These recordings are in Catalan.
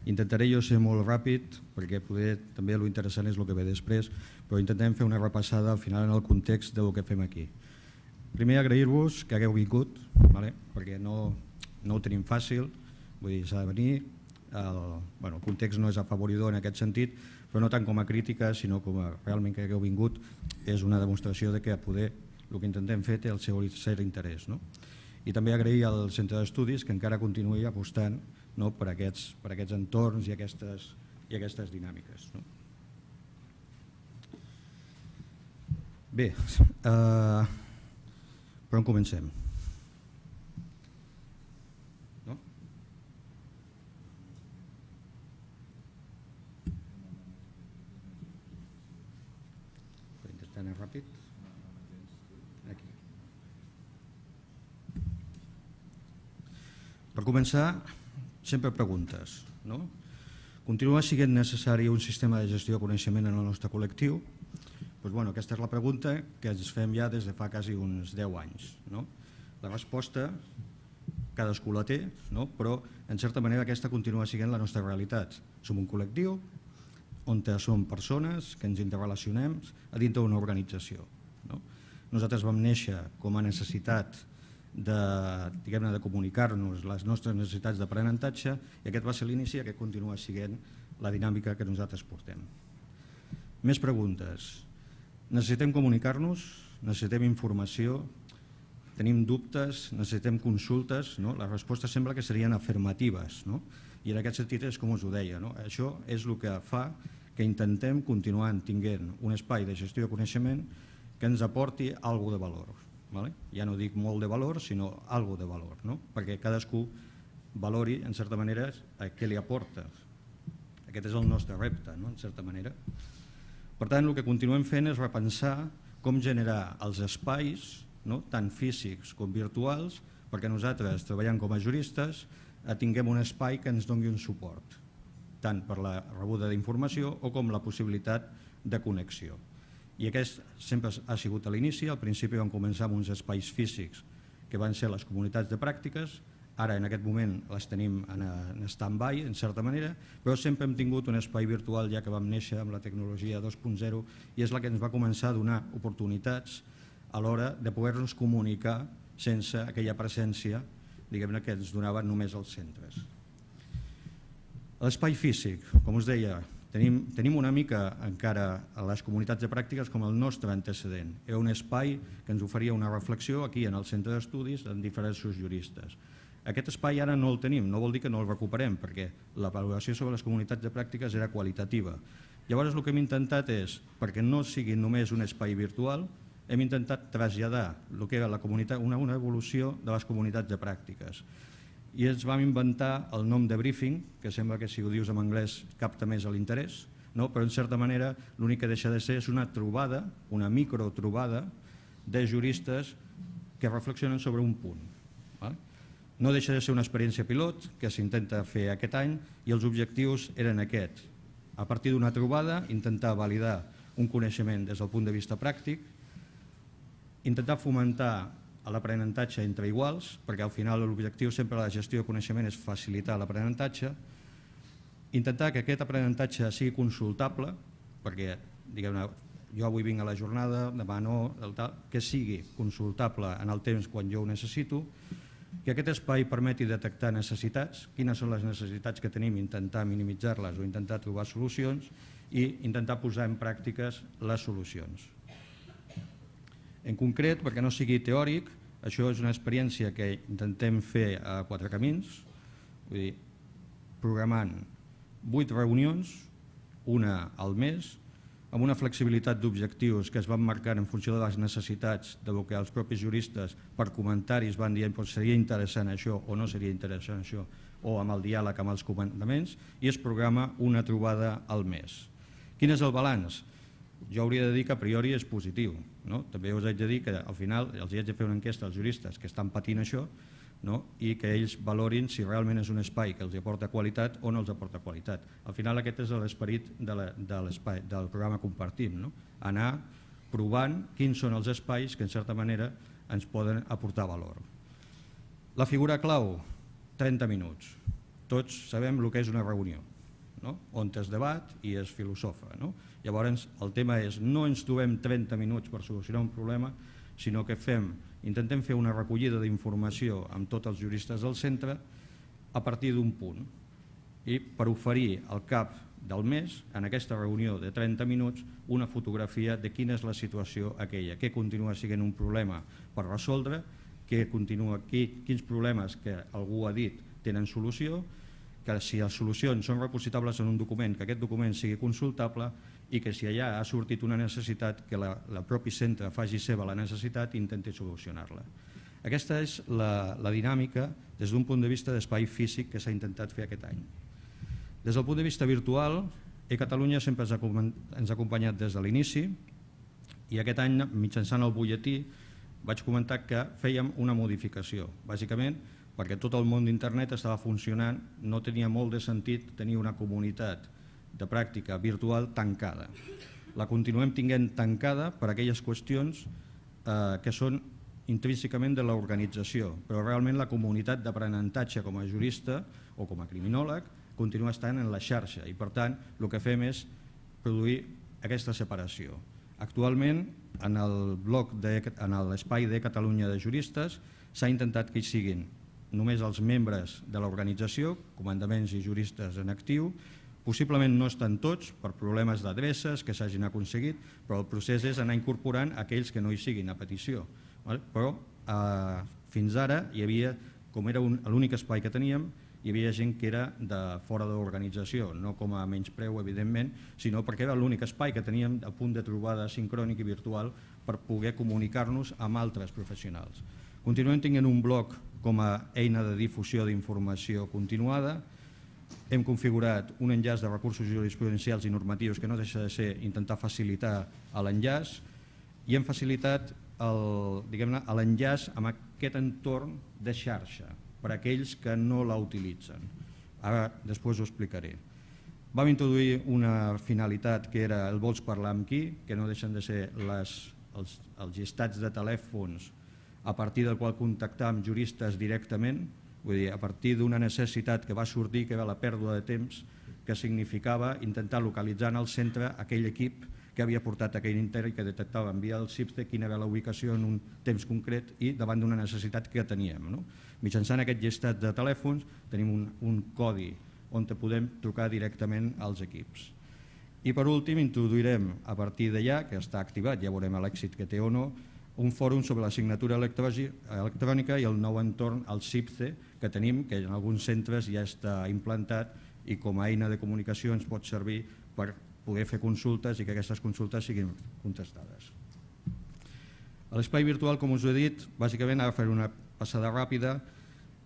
Intentaré jo ser molt ràpid, perquè poder també l'interessant és el que ve després, però intentem fer una repassada al final en el context del que fem aquí. Primer, agrair-vos que hagueu vingut, perquè no ho tenim fàcil, vull dir, s'ha de venir, el context no és afavoridor en aquest sentit, però no tant com a crítica, sinó com a realment que hagueu vingut, és una demostració de que poder el que intentem fer té el seu cert interès. I també agrair al Centre d'Estudis que encara continuï apostant per aquests entorns i aquestes dinàmiques. Bé, per on comencem? Per intentar anar ràpid. Aquí. Per començar, sempre preguntes. Continua sent necessari un sistema de gestió de coneixement en el nostre col·lectiu? Aquesta és la pregunta que ens fem ja des de fa quasi uns 10 anys. La resposta cadascú la té, però en certa manera aquesta continua sent la nostra realitat. Som un col·lectiu on som persones que ens interrelacionem a dintre d'una organització. Nosaltres vam néixer com a necessitat de comunicar-nos les nostres necessitats d'aprenentatge i aquest va ser l'inici i aquest continua sent la dinàmica que nosaltres portem. Més preguntes. Necessitem comunicar-nos? Necessitem informació? Tenim dubtes? Necessitem consultes? Les respostes sembla que serien afirmatives i en aquest sentit és com us ho deia. Això és el que fa que intentem continuar tenint un espai de gestió de coneixement que ens aporti alguna cosa de valor. Ja no dic molt de valor, sinó alguna cosa de valor, perquè cadascú valori, en certa manera, què li aporta. Aquest és el nostre repte, en certa manera. Per tant, el que continuem fent és repensar com generar els espais, tant físics com virtuals, perquè nosaltres, treballant com a juristes, tinguem un espai que ens doni un suport, tant per la rebuda d'informació o com la possibilitat de connexió. I aquest sempre ha sigut a l'inici. Al principi vam començar amb uns espais físics que van ser les comunitats de pràctiques, ara en aquest moment les tenim en stand-by en certa manera, però sempre hem tingut un espai virtual ja que vam néixer amb la tecnologia 2.0 i és la que ens va començar a donar oportunitats a l'hora de poder-nos comunicar sense aquella presència que ens donaven només els centres. L'espai físic, com us deia, tenim una mica encara a les comunitats de pràctiques com el nostre antecedent. Era un espai que ens oferia una reflexió aquí en el centre d'estudis amb diferents juristes. Aquest espai ara no el tenim, no vol dir que no el recuperem, perquè la valoració sobre les comunitats de pràctiques era qualitativa. Llavors el que hem intentat és, perquè no sigui només un espai virtual, hem intentat traslladar el que era una evolució de les comunitats de pràctiques. I ens vam inventar el nom de briefing, que sembla que si ho dius en anglès capta més l'interès, però en certa manera l'únic que deixa de ser és una trobada, una microtrobada de juristes que reflexionen sobre un punt. No deixa de ser una experiència pilot que s'intenta fer aquest any i els objectius eren aquests. A partir d'una trobada, intentar validar un coneixement des del punt de vista pràctic, intentar fomentar l'aprenentatge entre iguals, perquè al final l'objectiu sempre de la gestió de coneixement és facilitar l'aprenentatge, intentar que aquest aprenentatge sigui consultable, perquè jo avui vinc a la jornada, demà no, que sigui consultable en el temps quan jo ho necessito, que aquest espai permeti detectar necessitats, quines són les necessitats que tenim, intentar minimitzar-les o intentar trobar solucions i intentar posar en pràctiques les solucions. En concret, perquè no sigui teòric, això és una experiència que intentem fer a quatre camins, programant 8 reunions, una al mes, amb una flexibilitat d'objectius que es van marcar en funció de les necessitats del que els propis juristes per comentaris van dient seria interessant això o no seria interessant això, o amb el diàleg amb els comandaments, i es programa una trobada al mes. Quin és el balanç? Jo hauria de dir que a priori és positiu. També us haig de dir que al final els haig de fer una enquesta als juristes que estan patint això i que ells valorin si realment és un espai que els aporta qualitat o no els aporta qualitat. Al final aquest és l'esperit del programa Compartim, anar provant quins són els espais que en certa manera ens poden aportar valor. La figura clau, 30 minuts. Tots sabem el que és una reunió. on es debat i es filosofa. Llavors, el tema és no ens trobem 30 minuts per solucionar un problema, sinó que intentem fer una recollida d'informació amb tots els juristes del centre a partir d'un punt i per oferir al cap del mes, en aquesta reunió de 30 minuts, una fotografia de quina és la situació aquella, què continua sent un problema per resoldre, quins problemes que algú ha dit tenen solució, que si les solucions són repositables en un document, que aquest document sigui consultable i que si allà ha sortit una necessitat, que el propi centre faci seva la necessitat i intenti solucionar-la. Aquesta és la dinàmica des d'un punt de vista d'espai físic que s'ha intentat fer aquest any. Des del punt de vista virtual, eCatalunya sempre ens ha acompanyat des de l'inici i aquest any, mitjançant el butlletí, vaig comentar que fèiem una modificació, bàsicament perquè tot el món d'internet estava funcionant, no tenia molt de sentit tenir una comunitat de pràctica virtual tancada. La continuem tenint tancada per aquelles qüestions que són intrínsecament de l'organització, però realment la comunitat d'aprenentatge com a jurista o com a criminòleg continua estant en la xarxa i per tant el que fem és produir aquesta separació. Actualment en l'espai de Catalunya de juristes s'ha intentat que hi siguin només els membres de l'organització, comandaments i juristes en actiu. Possiblement no estan tots per problemes d'adreces que s'hagin aconseguit, però el procés és anar incorporant aquells que no hi siguin a petició. Però fins ara hi havia, com era l'únic espai que teníem, hi havia gent que era de fora de l'organització, no com a menyspreu evidentment, sinó perquè era l'únic espai que teníem a punt de trobada sincrònic i virtual per poder comunicar-nos amb altres professionals. Continuem tenint un blog com a eina de difusió d'informació continuada. Hem configurat un enllaç de recursos jurisprudencials i normatius que no deixa de ser intentar facilitar l'enllaç i hem facilitat l'enllaç amb aquest entorn de xarxa per a aquells que no la utilitzen. Ara després ho explicaré. Vam introduir una finalitat que era el vols parlar amb qui, que no deixen de ser els llistats de telèfons a partir del qual contactar amb juristes directament, vull dir, a partir d'una necessitat que va sortir, que era la pèrdua de temps, que significava intentar localitzar en el centre aquell equip que havia portat aquell inter i que detectava en via del CIPSE quina era la ubicació en un temps concret i davant d'una necessitat que teníem. Mitjançant aquest llistat de telèfons tenim un codi on podem trucar directament als equips. I per últim introduirem a partir d'allà, que està activat, ja veurem l'èxit que té o no, un fòrum sobre la signatura electrònica i el nou entorn al CIPSE que tenim, que en alguns centres ja està implantat i com a eina de comunicació ens pot servir per poder fer consultes i que aquestes consultes siguin contestades. A l'espai virtual, com us he dit, bàsicament, ara faré una passada ràpida,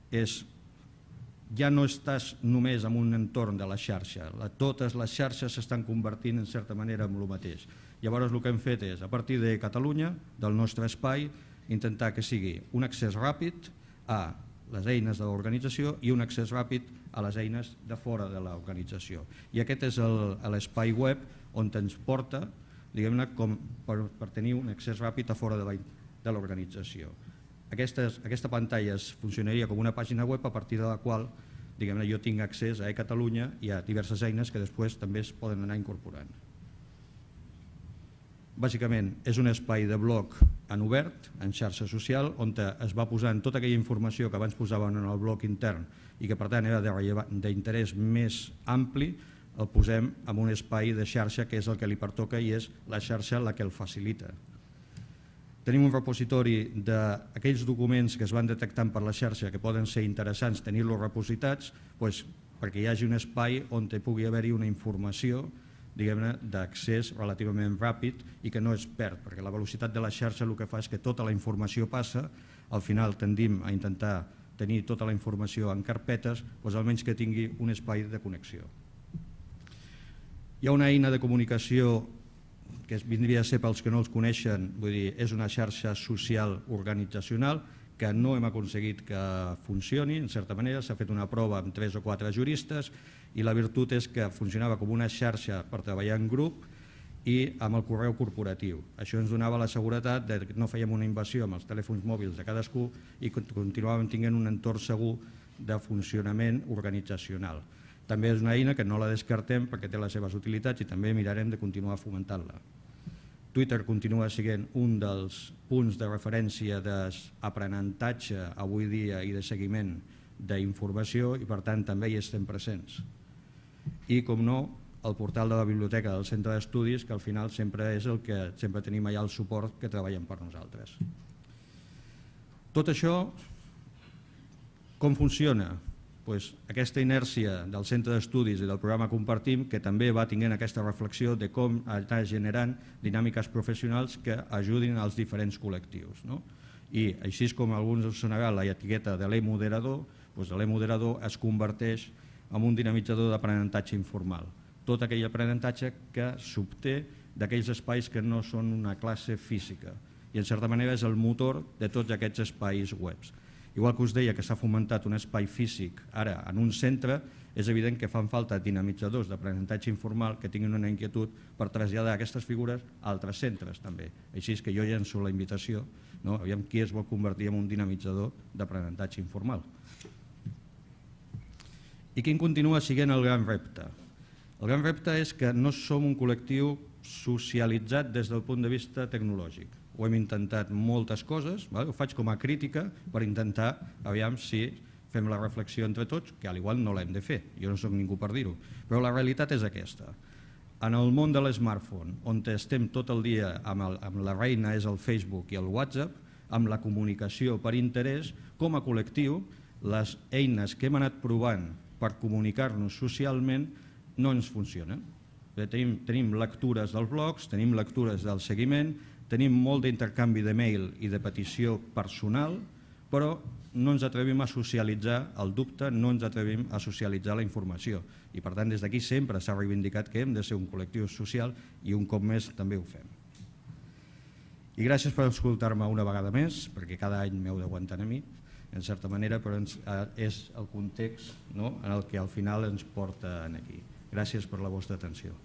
ja no estàs només en un entorn de la xarxa, totes les xarxes s'estan convertint en certa manera en el mateix. Llavors el que hem fet és, a partir de Catalunya, del nostre espai, intentar que sigui un accés ràpid a les eines de l'organització i un accés ràpid a les eines de fora de l'organització. I aquest és l'espai web on ens porta, diguem-ne, per tenir un accés ràpid a fora de l'organització. Aquesta pantalla funcionaria com una pàgina web a partir de la qual jo tinc accés a eCatalunya i a diverses eines que després també es poden anar incorporant. Bàsicament és un espai de blog en obert, en xarxa social, on es va posant tota aquella informació que abans posàvem en el blog intern i que per tant era d'interès més ampli, el posem en un espai de xarxa que és el que li pertoca i és la xarxa la que el facilita. Tenim un repositori d'aquells documents que es van detectant per la xarxa que poden ser interessants tenir-los repositats perquè hi hagi un espai on pugui haver-hi una informació d'accés relativament ràpid i que no es perd, perquè la velocitat de la xarxa el que fa és que tota la informació passa, al final tendim a intentar tenir tota la informació en carpetes, almenys que tingui un espai de connexió. Hi ha una eina de comunicació que vindria a ser pels que no els coneixen, vull dir, és una xarxa social organitzacional que no hem aconseguit que funcioni, en certa manera, s'ha fet una prova amb 3 o 4 juristes i la virtut és que funcionava com una xarxa per treballar en grup i amb el correu corporatiu. Això ens donava la seguretat que no fèiem una invasió amb els telèfons mòbils de cadascú i continuàvem tenint un entorn segur de funcionament organitzacional. també és una eina que no la descartem perquè té les seves utilitats i també mirarem de continuar fomentant-la. Twitter continua sent un dels punts de referència d'aprenentatge avui dia i de seguiment d'informació i per tant també hi estem presents. I com no, el portal de la biblioteca del centre d'estudis, que al final sempre és el que sempre tenim allà el suport que treballen per nosaltres. Tot això, com funciona? Aquesta inèrcia del centre d'estudis i del programa Compartim, que també va tenint aquesta reflexió de com anar generant dinàmiques professionals que ajudin als diferents col·lectius. I així com alguns us sonarà la etiqueta de l'e-moderador, l'e-moderador es converteix en un dinamitzador d'aprenentatge informal. Tot aquell aprenentatge que s'obté d'aquells espais que no són una classe física i en certa manera és el motor de tots aquests espais webs. Igual que us deia que s'ha fomentat un espai físic ara en un centre, és evident que fan falta dinamitzadors d'aprenentatge informal que tinguin una inquietud per traslladar aquestes figures a altres centres també. Així és que jo llenço la invitació, aviam qui es vol convertir en un dinamitzador d'aprenentatge informal. I quin continua sent el gran repte? El gran repte és que no som un col·lectiu socialitzat des del punt de vista tecnològic. Ho hem intentat moltes coses, ho faig com a crítica per intentar, aviam si fem la reflexió entre tots, que potser no l'hem de fer, jo no soc ningú per dir-ho, però la realitat és aquesta. En el món de l'smartphone, on estem tot el dia amb la reina és el Facebook i el WhatsApp, amb la comunicació per interès, com a col·lectiu, les eines que hem anat provant per comunicar-nos socialment no ens funcionen. Tenim lectures dels blogs, tenim lectures del seguiment, tenim molt d'intercanvi de mail i de petició personal, però no ens atrevim a socialitzar el dubte, no ens atrevim a socialitzar la informació. I per tant des d'aquí sempre s'ha reivindicat que hem de ser un col·lectiu social i un cop més també ho fem. I gràcies per escoltar-me una vegada més, perquè cada any m'heu d'aguantar a mi, en certa manera, però és el context en el que al final ens porta aquí. Gràcies per la vostra atenció.